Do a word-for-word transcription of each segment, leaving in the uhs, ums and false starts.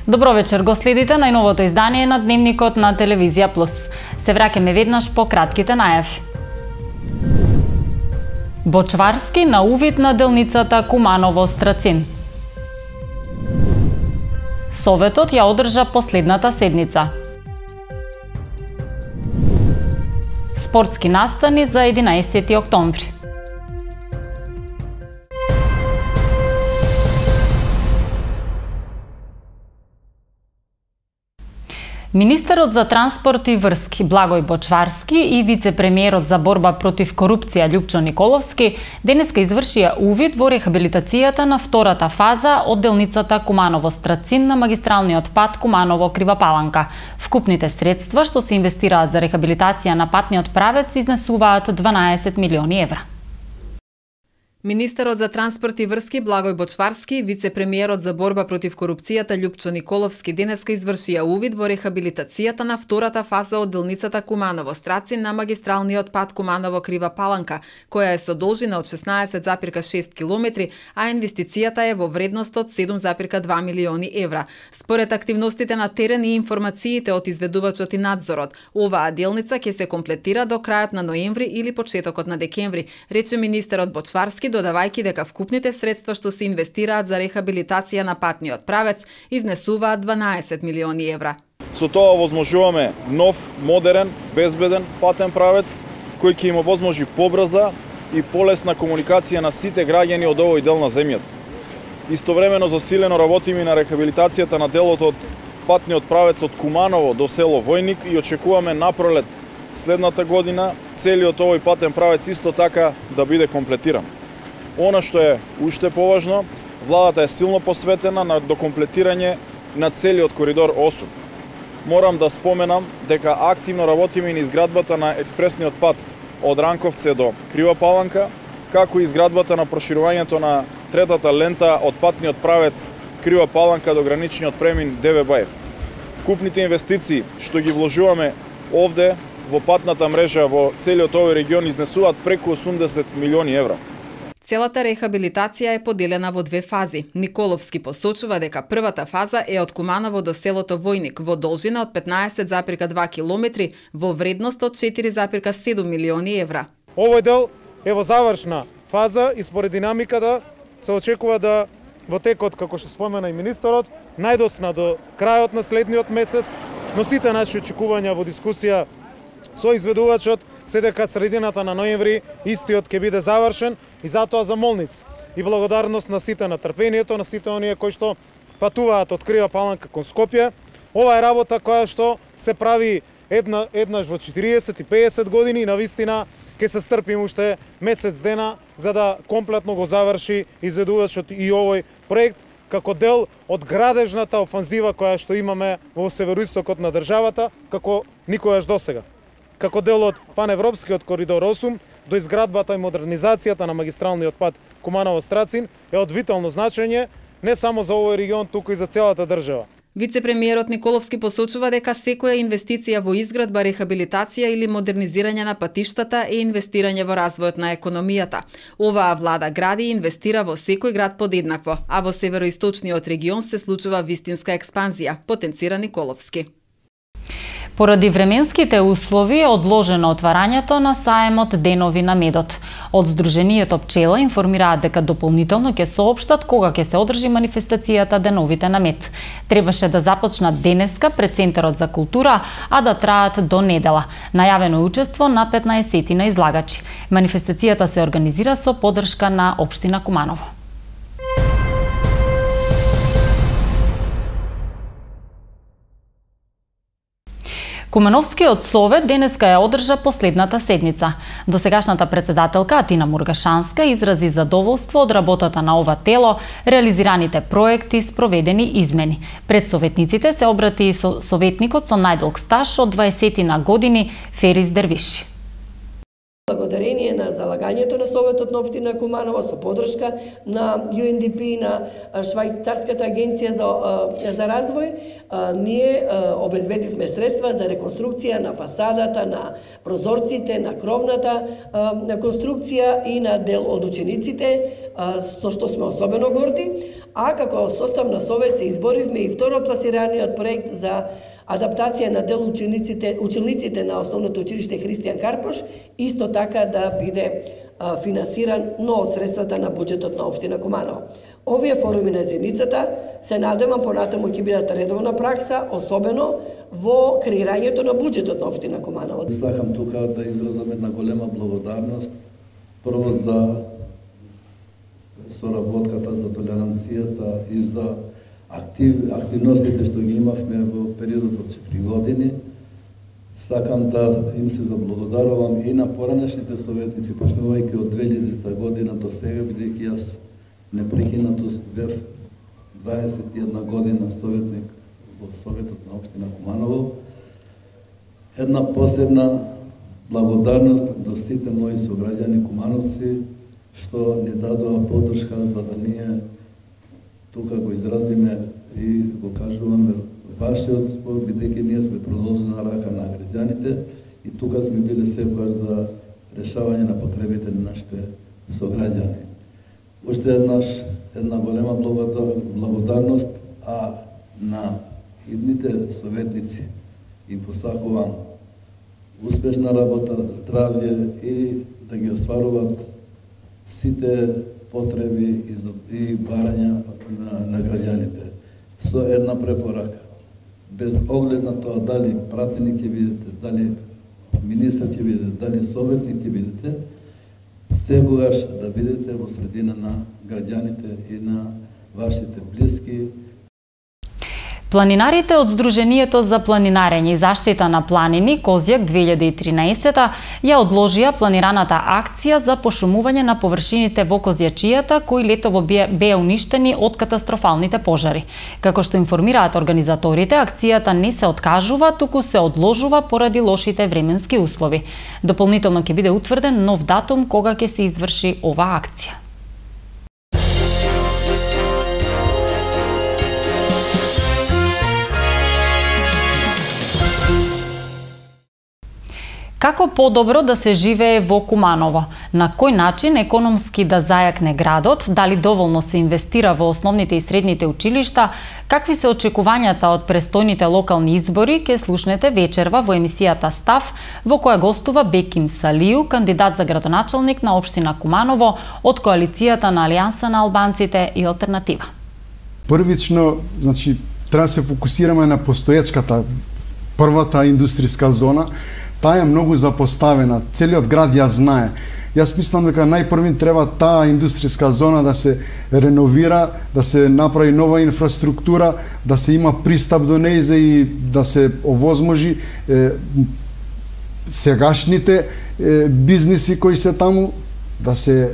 Добро вечер, го следите најновото издание на Дневникот на Телевизија Плюс. Се враќаме веднаш по кратките најави. Бочварски на увид на делницата Куманово-Страцин. Советот ја одржа последната седница. Спортски настани за единаесети октомври. Министерот за транспорт и врски Благој Бочварски и вице-премиерот за борба против корупција Љупчо Николовски денеска извршија увид во рехабилитацијата на втората фаза од делницата Куманово-Страцин на магистралниот пат Куманово-Крива Паланка. Вкупните средства што се инвестираат за рехабилитација на патниот правец изнесуваат дванаесет милиони евра. Министерот за транспорт и врски Благој Бочварски и вице-премиерот за борба против корупцијата Љупчо Николовски денеска извршија увид во рехабилитацијата на втората фаза од делницата Куманово-Страцин на магистралниот пат Куманово-Крива Паланка, која е со должина од шеснаесет запирка шест километри, а инвестицијата е во вредност од седум запирка два милиони евра. Според активностите на терен и информациите од изведувачот и надзорот, оваа делница ќе се комплетира до крајот на ноември или почетокот на декември, рече министерот Бочварски, додавајќи дека вкупните средства што се инвестираат за рехабилитација на патниот правец изнесуваат дванаесет милиони евра. Со тоа овозможуваме нов, модерен, безбеден патен правец кој ќе им овозможи побрза и полесна комуникација на сите граѓани од овој дел на земјата. Истовремено засилено работиме на рехабилитацијата на делот од патниот правец од Куманово до село Војник и очекуваме напролет следната година целиот овој патен правец исто така да биде комплетиран. Она што е уште поважно, владата е силно посветена на докомплетирање на целиот коридор осум. Морам да споменам дека активно работиме на изградбата на експресниот пат од Ранковце до Крива Паланка, како и изградбата на проширувањето на третата лента од патниот правец Крива Паланка до граничниот премин Деве Бај. Вкупните инвестиции што ги вложуваме овде во патната мрежа во целиот овој регион изнесуваат преку осумдесет милиони евра. Целата рехабилитација е поделена во две фази. Николовски посочува дека првата фаза е од Куманово до селото Војник во должина од петнаесет запирка два километри во вредност од четири запирка седум милиони евра. Овој дел е во завршна фаза и според динамиката се очекува да во текот, како што спомена и министерот, најдоцна до крајот на следниот месец, но сите наши очекувања во дискусија со изведувачот се дека средината на ноември истиот ќе биде завршен и затоа замолниц и благодарност на сите на трпението, на сите оние кои што патуваат од Крива Паланка кон Скопје. Ова е работа која што се прави една, еднаш во четириесет и пеесет години и навистина ќе се стрпим уште месец дена за да комплетно го заврши изведувачот и овој проект како дел од градежната офанзива која што имаме во североистокот на државата како никогаш досега. Како дел од паневропскиот коридор осум до изградбата и модернизацијата на магистралниот пат Куманово-Страцин е од витално значење не само за овој регион, туку и за целата држава. Вице-премиерот Николовски посочува дека секоја инвестиција во изградба, рехабилитација или модернизирање на патиштата е инвестирање во развојот на економијата. Оваа влада гради и инвестира во секој град подеднакво, а во североисточниот регион се случува вистинска експанзија, потенцира Николовски. Поради временските услови е одложено отварањето на саемот Денови на медот. Од Сдруженијето Пчела информираат дека дополнително ќе соопштат кога ќе се одржи манифестацијата Деновите на мед. Требаше да започнат денеска пред Центарот за култура, а да траат до недела. Најавено е учество на петнаесет на излагачи. Манифестацијата се организира со поддршка на општина Куманово. Кумановскиот совет денеска ја одржа последната седница. Досегашната председателка Атина Мургашанска изрази задоволство од работата на ова тело, реализираните проекти, спроведени измени. Пред советниците се обрати и со советникот со најдолг стаж од дваесет години Ферис Дервиши. Благодарение на залагањето на Советот на општина Куманово со поддршка на Ю Ен Ди Пи, на Швајцарската агенција за, за развој, ние обезбедивме средства за реконструкција на фасадата, на прозорците, на кровната конструкција и на дел од учениците, со што сме особено горди. А како состав на Совет се изборивме и второпласираниот проект за адаптација на дел учениците, учениците на Основното училиште Христијан Карпош, исто така да биде а, финансиран, но од средствата на буџетот на општина Куманово. Овие форуми на заедницата се надевам понатаму ќе бидат редовна пракса, особено во креирањето на буџетот на општина Куманово. Сакам тука да изразам една голема благодарност прво за соработката, за толеранцијата и за Актив, активностите што ги имавме во периодот од четири години. Сакам да им се заблагодарувам и на поранешните советници, почнувајќи од две илјадета година до сега, бидејќи јас непрекинато бев дваесет и една година советник во Советот на општина Куманово. Една посебна благодарност до сите мои сограѓани кумановци што ни дадоа поддршка за да ние тука го изразиме и го кажуваме вашиот збор, бидејќи ние сме продолжена рака на граѓаните и тука сме биле секогаш за решавање на потребите на нашите сограѓани. Уште еднаш една голема благодарност, а на идните советници им посакувам успешна работа, здравје и да ги остваруваат сите потреби и барања на, на граѓаните. Со една препорака. Без оглед на тоа дали пратеник ќе бидете, дали министр ќе бидете, дали советник ќе бидете, секогаш да бидете во средина на граѓаните и на вашите блиски. Планинарите од Сдруженијето за планинарење и заштита на планини Козјак две илјади и тринаесета ја одложија планираната акција за пошумување на површините во Козјачијата, кои летово беа уништени од катастрофалните пожари. Како што информираат организаторите, акцијата не се откажува, туку се одложува поради лошите временски услови. Дополнително ќе биде утврден нов датум кога ќе се изврши оваа акција. Како подобро да се живее во Куманово? На кој начин економски да зајакне градот? Дали доволно се инвестира во основните и средните училишта? Какви се очекувањата од престојните локални избори? Ке слушнете вечерва во емисијата Став, во која гостува Беким Салију, кандидат за градоначалник на општина Куманово од коалицијата на Алијанса на албанците и Алтернатива. Првично, значи, треба да се фокусираме на постоечката првата индустријска зона. Таа е многу запоставена, целиот град ја знае. Јас мислам дека најпрвин треба таа индустријска зона да се реновира, да се направи нова инфраструктура, да се има пристап до нејзе и да се овозможи е, сегашните е, бизниси кои се таму, да се е,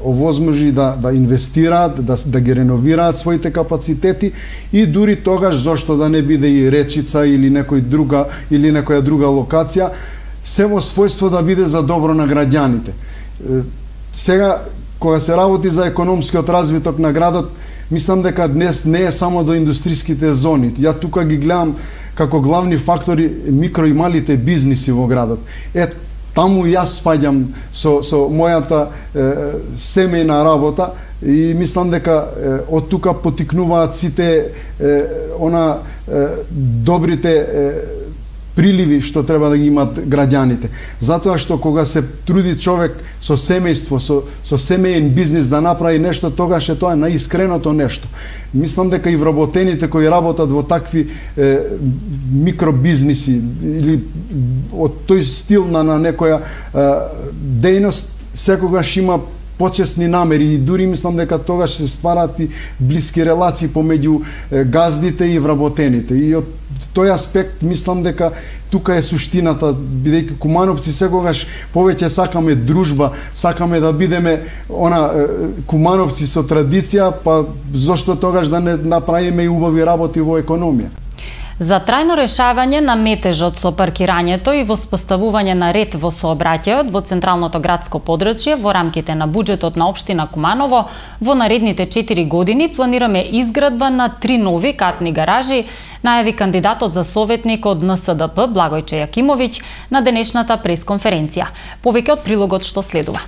овозможи да, да инвестираат, да, да ги реновираат своите капацитети и дури тогаш зошто да не биде и Речица или некој друга или некоја друга локација, се во својство да биде за добро на граѓаните. Е, сега, кога се работи за економскиот развиток на градот, мислам дека днес не е само до индустријските зони. Ја тука ги гледам како главни фактори микро и малите бизниси во градот. Е, таму јас спаѓам со, со мојата е, семејна работа и мислам дека е, од тука потикнуваат сите е, она е, добрите е, приливи што треба да ги имат граѓаните. Затоа што кога се труди човек со семејство, со, со семејен бизнис да направи нешто, тогаш е тоа наискреното нешто. Мислам дека и вработените кои работат во такви е, микробизниси или од тој стил на, на некоја е, дејност, секогаш има почесни намери и дури мислам дека тогаш се ствараат и блиски релации помеѓу газдите и вработените. И од тој аспект мислам дека тука е суштината, бидејќи кумановци секогаш повеќе сакаме дружба, сакаме да бидеме она кумановци со традиција, па зошто тогаш да не направиме и убави работи во економија. За трајно решавање на метежот со паркирањето и воспоставување на ред во сообраќајот во централното градско подрачје во рамките на буџетот на општина Куманово, во наредните четири години планираме изградба на три нови катни гаражи, најави кандидатот за советник од Н С Д П Благојче Јакимовиќ на денешната пресконференција. Повеќе од прилогот што следува.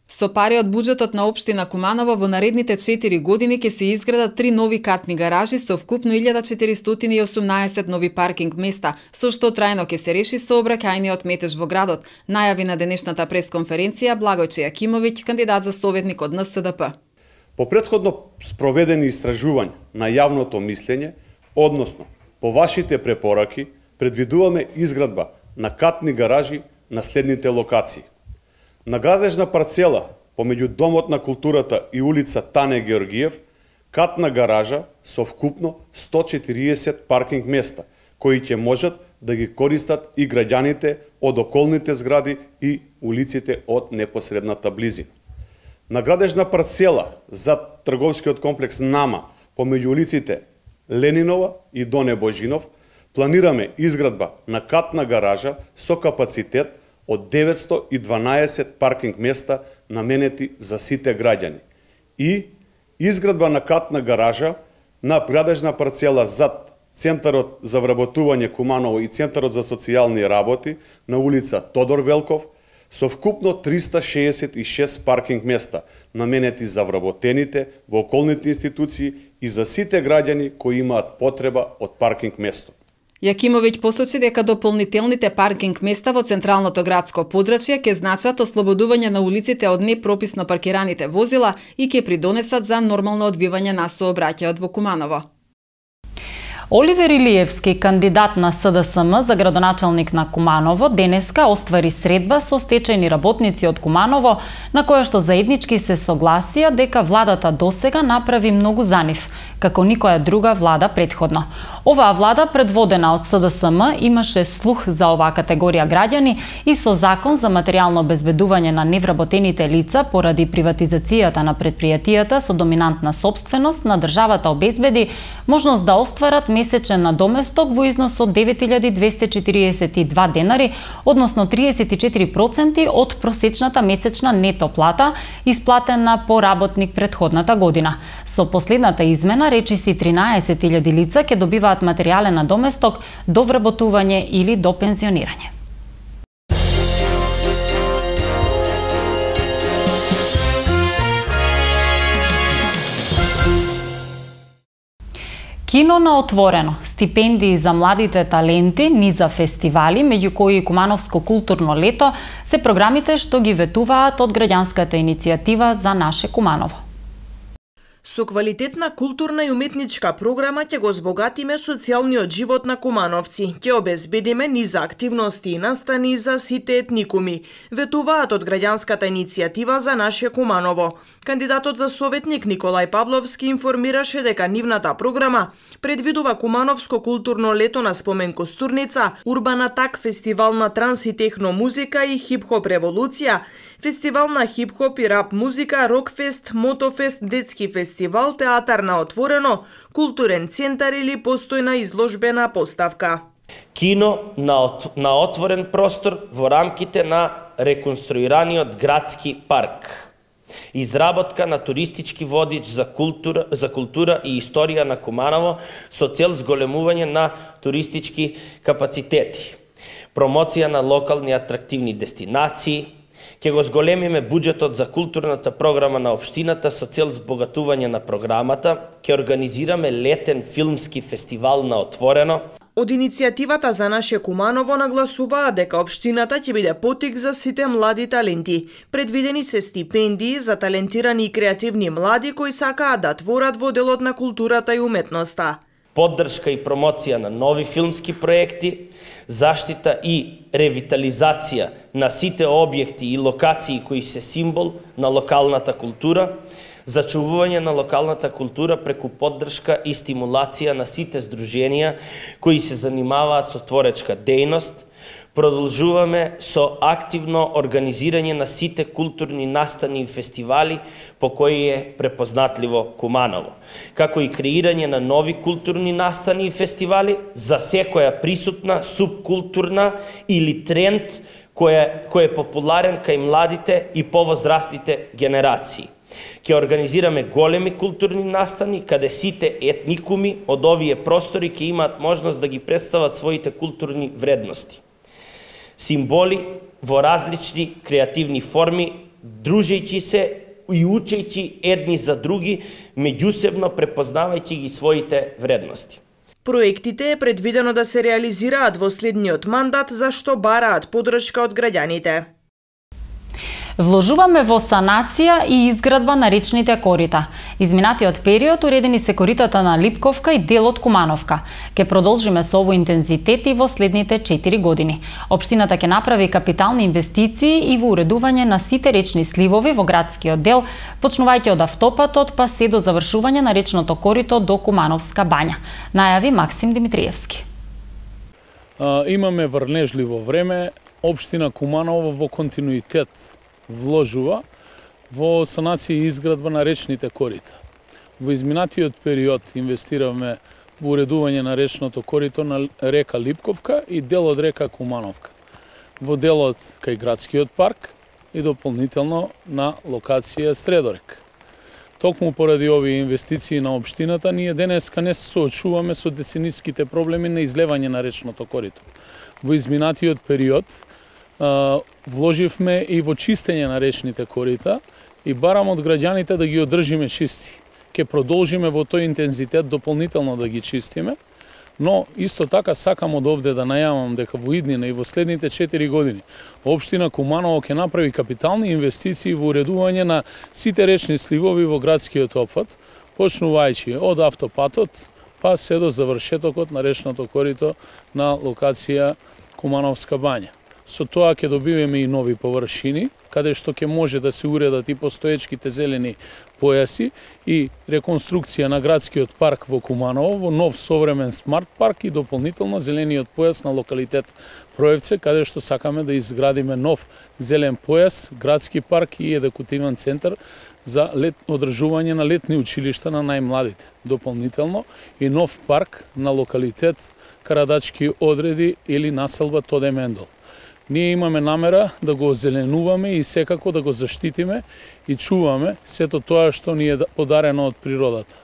Со пари од буџетот на општина Куманово во наредните четири години ќе се изградат три нови катни гаражи со вкупно илјада четиристотини и осумнаесет нови паркинг места, со што трајно ќе се реши сообраќајниот метеж во градот, најави на денешната пресконференција Благојче Јакимовиќ, кандидат за советник од Н С Д П. По претходно спроведени истражувања на јавното мислење, односно по вашите препораки, предвидуваме изградба на катни гаражи на следните локации. На градежна парцела помеѓу Домот на културата и улица Тане Георгиев, катна гаража со вкупно сто четириесет паркинг места, кои ќе можат да ги користат и граѓаните од околните згради и улиците од непосредната близина. На градежна парцела зад трговскиот комплекс Нама, помеѓу улиците Ленинова и Доне Божинов, планираме изградба на катна гаража со капацитет од деветсто и дванаесет паркинг места наменети за сите граѓани и изградба на катна гаража на градежна парцела зад Центарот за вработување Куманово и Центарот за социјални работи на улица Тодор Велков со вкупно триста шеесет и шест паркинг места наменети за вработените во околните институции и за сите граѓани кои имаат потреба од паркинг место. Јакимовиќ посочи дека дополнителните паркинг места во централното градско подрачје ќе значат ослободување на улиците од непрописно паркираните возила и ќе придонесат за нормално одвивање на сообраќајот во Куманово. Оливер Илиевски, кандидат на С Д С М за градоначалник на Куманово, денеска оствари средба со стечајни работници од Куманово, на која што заеднички се согласија дека владата досега направи многу за нив, како никоја друга влада претходно. Оваа влада, предводена од С Д С М, имаше слух за оваа категорија граѓани и со закон за материјално обезбедување на невработените лица поради приватизацијата на предпријатијата со доминантна сопственост на државата обезбеди можност да остварат месечен надоместок во износ од девет илјади двесте четириесет и два денари, односно триесет и четири проценти од просечната месечна нето плата, исплатена по работник претходната година. Со последната измена, речиси тринаесет илјади лица ќе добиваат материјален надоместок до вработување или до пензионирање. Кино на отворено, стипендии за младите таленти, низа фестивали, меѓу кои Кумановско културно лето, се програмите што ги ветуваат од граѓанската иницијатива за наше Куманово. Со квалитетна културна и уметничка програма ќе го збогатиме социјалниот живот на кумановци, ќе обезбедиме низа активности и настани за сите етникуми, ветуваат од граѓанската иницијатива за наше Куманово. Кандидатот за советник Николај Павловски информираше дека нивната програма предвидува Кумановско културно лето на спомен Костурница, Урбан Атак, фестивал на транс и техно музика и хип-хоп револуција, фестивал на хип-хоп и рап музика, рокфест, мотофест, детски фестивал, театар на отворено, културен центар или постојна изложбена поставка. Кино на, от, на отворен простор во рамките на реконструираниот градски парк. Изработка на туристички водич за култура, за култура и историја на Куманово со цел зголемување на туристички капацитети. Промоција на локални атрактивни дестинации. Ќе го зголемиме буџетот за културната програма на општината со цел збогатување на програмата. Ќе организираме летен филмски фестивал на отворено. Од иницијативата за наше Куманово нагласуваа дека општината ќе биде потик за сите млади таленти. Предвидени се стипендии за талентирани и креативни млади кои сакаат да творат во делот на културата и уметноста. Поддршка и промоција на нови филмски проекти, заштита и ревитализација на сите објекти и локации кои се символ на локалната култура, зачувување на локалната култура преку поддршка и стимулација на сите здруженија кои се занимаваат со творечка дејност, Продолжуваме со активно организирање на сите културни настани и фестивали по кои е препознатливо Куманово, како и креирање на нови културни настани и фестивали за секоја присутна субкултурна или тренд кој кој е популарен кај младите и повозрастните генерации. Ќе организираме големи културни настани каде сите етникуми од овие простори ќе имаат можност да ги представат своите културни вредности. Символи во различни креативни форми, дружејќи се и учејќи едни за други, меѓусебно препознавајќи ги своите вредности. Проектите е предвидено да се реализираат во следниот мандат, за што бараат поддршка од граѓаните. Вложуваме во санација и изградба на речните корита. Изминатиот период уредени се коритата на Липковка и дел од Кумановка. Ке продолжиме со овој интензитет и во следните четири години. Општината ќе направи капитални инвестиции и во уредување на сите речни сливови во градскиот дел, почнувајќи од автопатот па се до завршување на речното корито до Кумановска бања, најави Максим Димитриевски. А, имаме врнежливо време. Општина Куманово во континуитет вложува во санација и изградба на речните корита. Во изминатиот период инвестиравме во уредување на речното корито на река Липковка и дел од река Кумановка. Во делот кај градскиот парк и дополнително на локација Средорек. Токму поради овие инвестиции на општината, ние денеска не се соочуваме со децениските проблеми на излевање на речното корито. Во изминатиот период вложивме и во чистење на речните корита и барам од граѓаните да ги одржиме чисти. Ке продолжиме во тој интензитет дополнително да ги чистиме, но исто така сакам од овде да најавам дека во иднина и во следните четири години општина Куманово ќе направи капитални инвестиции во уредување на сите речни сливови во градскиот опфат, почнувајќи од автопатот па се до завршетокот на речното корито на локација Кумановска бања. Со тоа ќе добиваме и нови површини, каде што ќе може да се уредат и постоечките зелени појаси и реконструкција на градскиот парк во Куманово во нов современ смарт парк и дополнително зелениот појас на локалитет Проевце, каде што сакаме да изградиме нов зелен појас, градски парк и едукативен центар за лет, одржување на летни училишта на најмладите. Дополнително и нов парк на локалитет Карадачки одреди или населба Тоде Мендол. Ние имаме намера да го озеленуваме и секако да го заштитиме и чуваме сето тоа што ни е подарено од природата.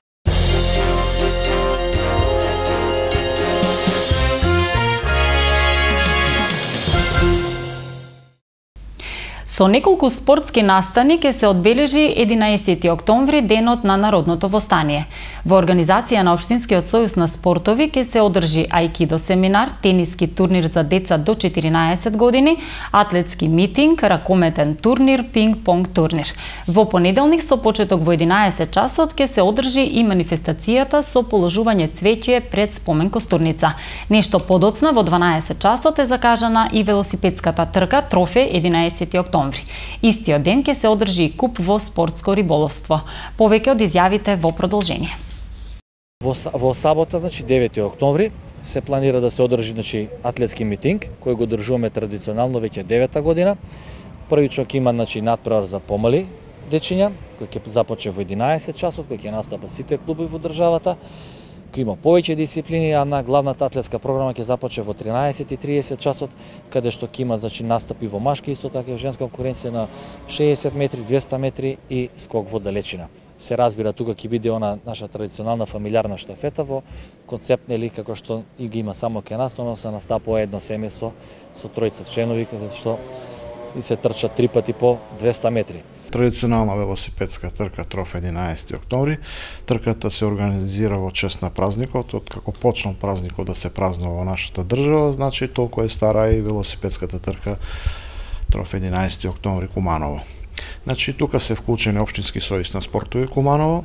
Со неколку спортски настани ќе се одбележи единаесети октомври, денот на народното востание. Во организација на Општинскиот сојуз на спортови ќе се одржи ајкидо семинар, тениски турнир за деца до четиринаесет години, атлетски митинг, ракометен турнир, пинг-понг турнир. Во понеделник со почеток во единаесет часот ќе се одржи и манифестацијата со положување цвеќе пред спомен костурница. Нешто подоцна во дванаесет часот е закажана и велосипедската трка Трофе единаесети октомври. Истиот ден ќе се одржи и куп во спортско риболовство. Повеќе од изјавите во продолжение. Во, во сабота, значи девети октомври, се планира да се одржи значи атлетски митинг кој го одржуваме традиционално веќе девета година. Првичок има значи надпревар за помали дечиња, кој ќе започне во единаесет часот, кој ќе настапат сите клубови во државата. Кој има повеќе дисциплини, а на главната атлетска програма ќе започне во тринаесет и триесет часот, каде што ќе има значи настапи во машки, исто така и во женска конкуренција на шеесет метри, двесте метри и скок во далечина. Се разбира, тука ќе биде она наша традиционална фамилиарна штафета во концепт, нели, како што и ги има само кај нас, но се настапува едно семејство со тројца членови, каде што и се трчат три пати по двесте метри. Традиционална велосипедска трка Трофе единаесети октомври. Трката се организира во чест на празникот, од како почнал празникот да се празнува во нашата држава, значи толку е стара и велосипедската трка Трофе единаесети октомври Куманово. Значи тука се вклучени Општински сојуз на спортови Куманово,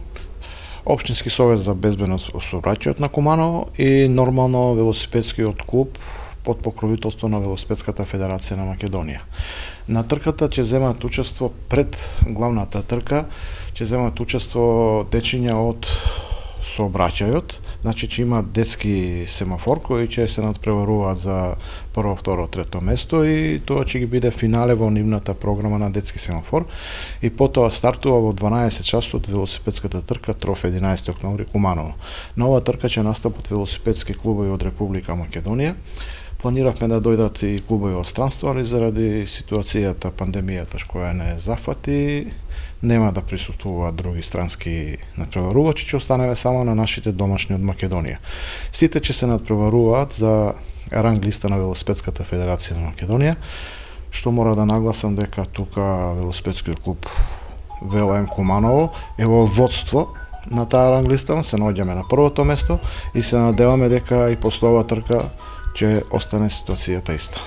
Општински совет за безбедност во сообраќајот на Куманово и нормално велосипедскиот клуб под покровителство на Велосипедската федерација на Македонија. На трката ќе земат учество пред главната трка, ќе земат учество дечиња од сообраќајот, значи че има детски семафор кои ќе се надпреваруваат за прво, второ, трето место и тоа ќе ги биде финале во нивната програма на детски семафор и потоа стартува во дванаесет часот велосипедската трка Троф единаесети октомври Куманово. На оваа трка ќе настапат велосипедски клубови од Република Македонија. Планиравме да дојдат и клубови од странство, али заради ситуацијата, пандемијата која не зафати, нема да присуствуваат други странски надпреварувачи, ќе останеме само на нашите домашни од Македонија. Сите ќе се надпреваруваат за ранг листа на Велосипедската федерација на Македонија, што мора да нагласам дека тука велосипедскиот клуб ВЛМ Куманово е во водство на таа ранг листа, се наоѓаме на првото место и се надеваме дека и после оваа трка ќе остане ситуацијата иста.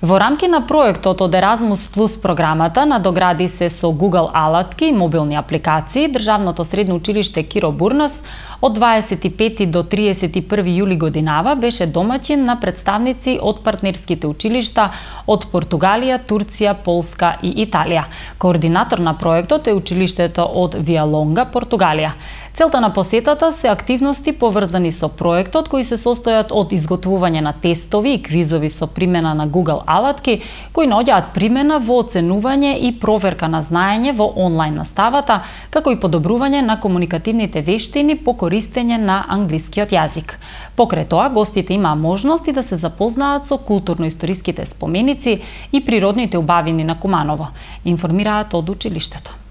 Во рамки на проектот од Еразмус Плюс програмата надогради се со Google алатки и мобилни апликации Државното средно училиште Киро Бурнас од дваесет и пети до триесет и први јули годинава беше домаќин на представници од партнерските училишта од Португалија, Турција, Полска и Италија. Координатор на проектот е училиштето од Виалонга, Португалија. Целта на посетата се активности поврзани со проектот кои се состојат од изготвување на тестови и квизови со примена на Google алатки кои наоѓаат примена во оценување и проверка на знаење во онлайн наставата, како и подобрување на комуникативните вештини по користење на англискиот јазик. Покрај тоа, гостите имаа можност и да се запознаат со културно-историските споменици и природните убавини на Куманово, информираат од училиштето.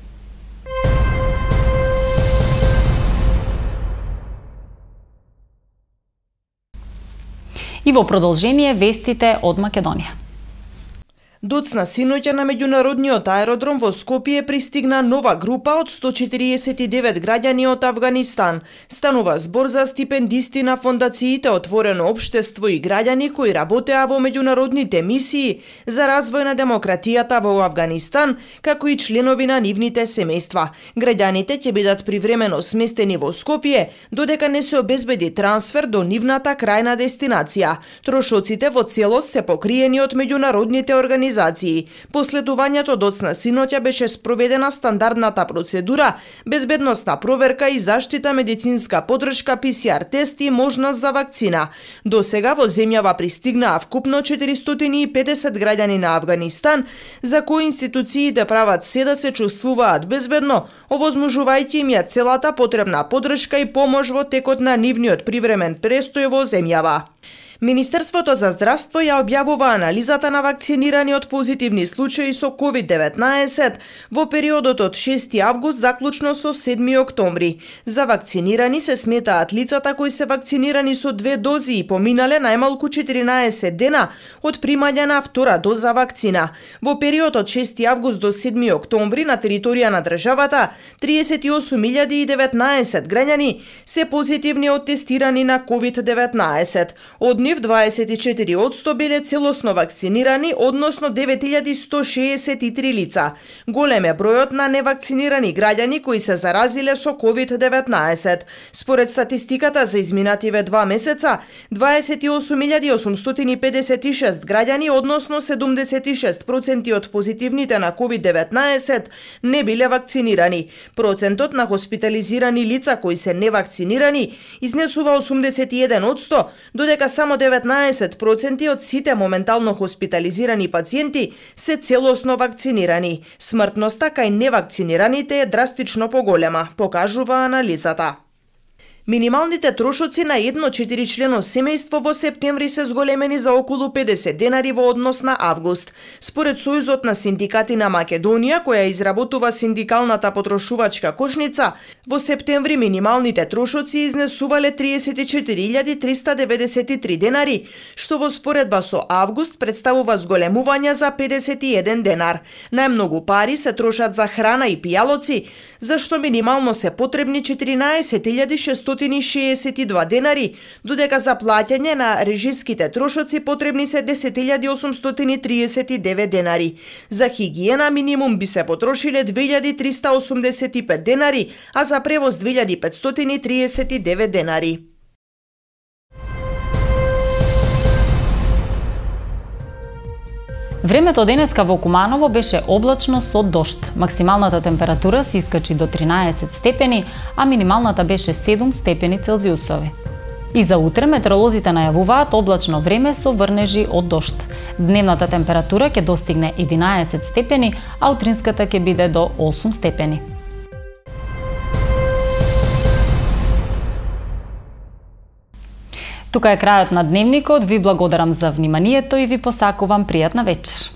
И во продолжение вестите од Македонија. Доцна синоќа на меѓународниот аеродром во Скопје пристигна нова група од сто четириесет и девет граѓани од Авганистан. Станува збор за стипендисти на фондациите Отворено општество и граѓани кои работеа во меѓународните мисии за развој на демократијата во Авганистан, како и членови на нивните семејства. Граѓаните ќе бидат привремено сместени во Скопје, додека не се обезбеди трансфер до нивната крајна дестинација. Трошоците во целост се покриени од меѓународните организации. Последувањето доцна синоќа беше спроведена стандардната процедура, безбедносна проверка и заштита медицинска подршка, пи си ар тест и можност за вакцина. До сега во земјава пристигнаа вкупно четиристотини и педесет граѓани на Авганистан, за кои институциите прават се да се чувствуваат безбедно, овозможувајќи им ја целата потребна подршка и помош во текот на нивниот привремен престој во земјава. Министерството за здравство ја објавува анализата на вакцинирани од позитивни случаи со ковид деветнаесет во периодот од шести август заклучно со седми октомври. За вакцинирани се сметаат лицата кои се вакцинирани со две дози и поминале најмалку четиринаесет дена од примање на втора доза вакцина. Во период од шести август до седми октомври на територија на државата триесет и осум илјади и деветнаесет граѓани се позитивни од тестирани на ковид деветнаесет. Од нив дваесет и четири одсто биле целосно вакцинирани, односно девет илјади сто шеесет и три лица. Голем е бројот на невакцинирани граѓани кои се заразиле со ковид деветнаесет. Според статистиката за изминативе два месеца, дваесет и осум илјади осумстотини педесет и шест граѓани, односно седумдесет и шест проценти од позитивните на ковид деветнаесет, не биле вакцинирани. Процентот на хоспитализирани лица кои се невакцинирани изнесува осумдесет и еден одсто, додека само деветнаесет проценти од сите моментално хоспитализирани пациенти се целосно вакцинирани. Смртноста кај невакцинираните е драстично поголема, покажува анализата. Минималните трошоци на едно четиричлено семејство во септември се зголемени за околу педесет денари во однос на август. Според Сојузот на синдикати на Македонија, која изработува синдикалната потрошувачка кошница, во септември минималните трошоци изнесувале триесет и четири илјади триста деветдесет и три денари, што во споредба со август представува зголемување за педесет и еден денар. Најмногу пари се трошат за храна и пијалоци, зашто минимално се потребни четиринаесет илјади шестстотини шеесет и два денари, додека за плаќање на режиските трошоци потребни се десет илјади осумстотини триесет и девет денари. За хигиена минимум би се потрошиле две илјади триста осумдесет и пет денари, а за превоз две илјади петстотини триесет и девет денари. Времето денеска во Куманово беше облачно со дожд. Максималната температура се искачи до тринаесет степени, а минималната беше седум степени Целзиусови. И за утре метеоролозите најавуваат облачно време со врнежи од дожд. Дневната температура ќе достигне единаесет степени, а утринската ќе биде до осум степени. Тука е крајот на дневникот, ви благодарам за вниманието и ви посакувам пријатна вечер.